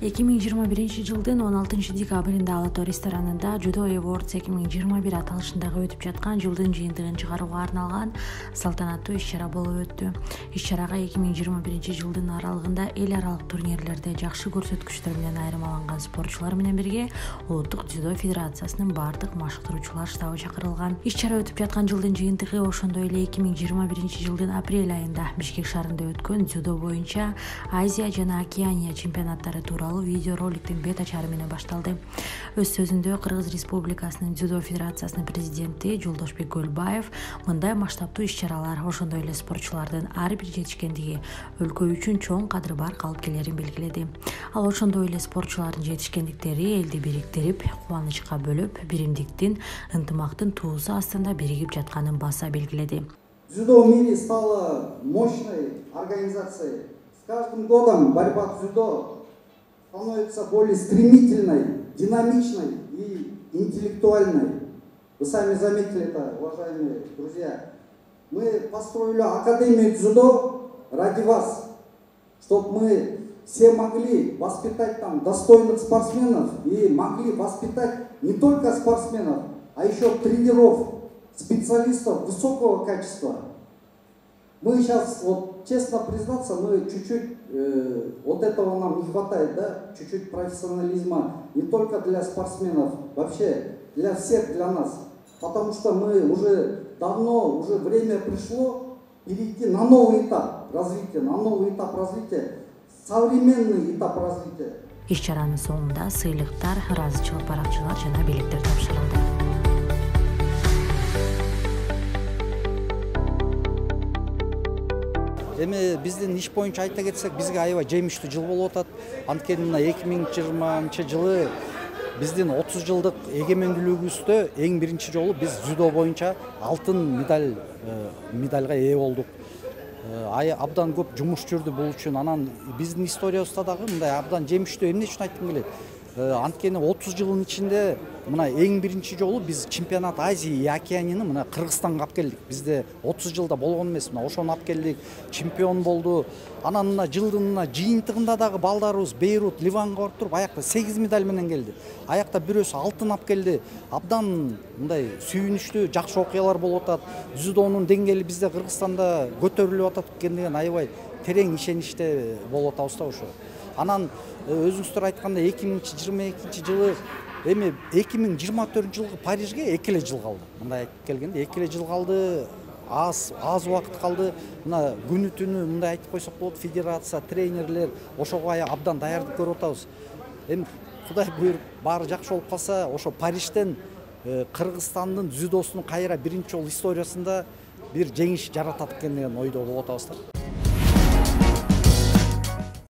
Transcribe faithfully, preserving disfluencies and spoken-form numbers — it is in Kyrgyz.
эки миң жыйырма биринчи жылдын он алтынчы декабрында Ала Тоо ресторанында Judo Awards эки миң жыйырма бир аталышындагы өтүп жаткан жылдын жыйынтыгын чыгарууга арналган салтанаттуу иш-чара болуп өттү. Иш-чарага эки миң жыйырма биринчи жылдын аралыгында эл аралык турнирлерде жакшы көрсөткүчтөр менен айырмаланган спортчулар менен бирге Улуттук дзюдо федерациясынын бардык машыктыруучулар штабы чакырылган. Иш-чара өтүп жаткан жылдын жыйынтыгы ошондой эле эки миң жыйырма биринчи жылдын апрель айында Бишкек шаарында өткөн дзюдо боюнча Азия жана Океания чемпионаттары тууралуу видеороликтин бет ачары менен башталды. Өз сөзүндө Кыргыз Республикасынын дзюдо федерациясынын президенти Жолдошбек Көлбаев мындай масштабтуу иш-чаралар ошондой эле спортчулардын ар бир жетишкендиги өлкө үчүн чоң кадыры бар калпкерлерин белгиледи. Ал ошондой эле спортчулардын жетишкендиктери элди бириктирип, кубанычка бөлөп, биримдиктин, ынтымактын туусу астында биригип жатканын баса белгиледи. Дзюдо в мире стало мощной организацией. С каждым годом борьба дзюдо становится более стремительной, динамичной и интеллектуальной. Вы сами заметили это, уважаемые друзья. Мы построили Академию дзюдо ради вас, чтобы мы все могли воспитать там достойных спортсменов и могли воспитать не только спортсменов, а еще тренеров, специалистов высокого качества. Мы сейчас, вот честно признаться, мы чуть-чуть, э, вот этого нам не хватает, да, чуть-чуть профессионализма, не только для спортсменов, вообще для всех, для нас. Потому что мы уже давно, уже время пришло перейти на новый этап развития, на новый этап развития, современный этап развития. Иш-чаранын соңунда сыйлыктар, ыраазычылык баракчалар жана белектер тапшырылды. Эми биздин иш боюнча айта кетсек, бизге аябай жемиштүү жыл болуп атат. Анткени мына эки миң жыйырманчы жылы биздин отуз жылдык эгемендүүлүгүбүздө эң биринчи жолу биз дзюдо боюнча алтын медаль медальга ээ болдук. Абдан көп жумуш жүрдү бул үчүн. Анан биздин историябызда дагы мындай абдан жемиштүү эмне үчүн айткым келет? Анткени отуз жылдын ичинде мына эң биринчи жолу биз чемпионат Азии и Океанияны мына Кыргызстанга алып келдик. Бизде отуз жылда болгон эмес, мына ошону алып келдик, чемпион болду. Анан мына жылдын мына жыйынтыгында дагы балдарыбыз Бейрут, Ливанга барып туруп, аякта сегиз медаль менен келди. Аякта бирөөсү алтын алып келди. Абдан мындай сүйүнүчтүү, жакшы окуялар болуп атат. Дзюдонун деңгээли бизде Кыргызстанда көтөрүлүп атат экендигин аябай терең ишеничте болуп атабыз да ошо. Анан өзүңүздөр айткандай эки миң жыйырма экинчи жылы эми эки миң жыйырма төртүнчү жылкы Парижге эки эле жыл калды. Мындай айтып келгенде эки эле жыл калды, аз аз убакыт калды. Мына күнү түнү мындай айтып койсок болот, федерация, тренерлер ошого абдан даярдык көрүп атабыз. Эми Кудай буйруп баары жакшы болуп калса, ошо Парижден Кыргызстандын дзюдосунун кайра биринчи жолу историясында бир жеңиш жаратат экен деген ойдо болуп атабыз да.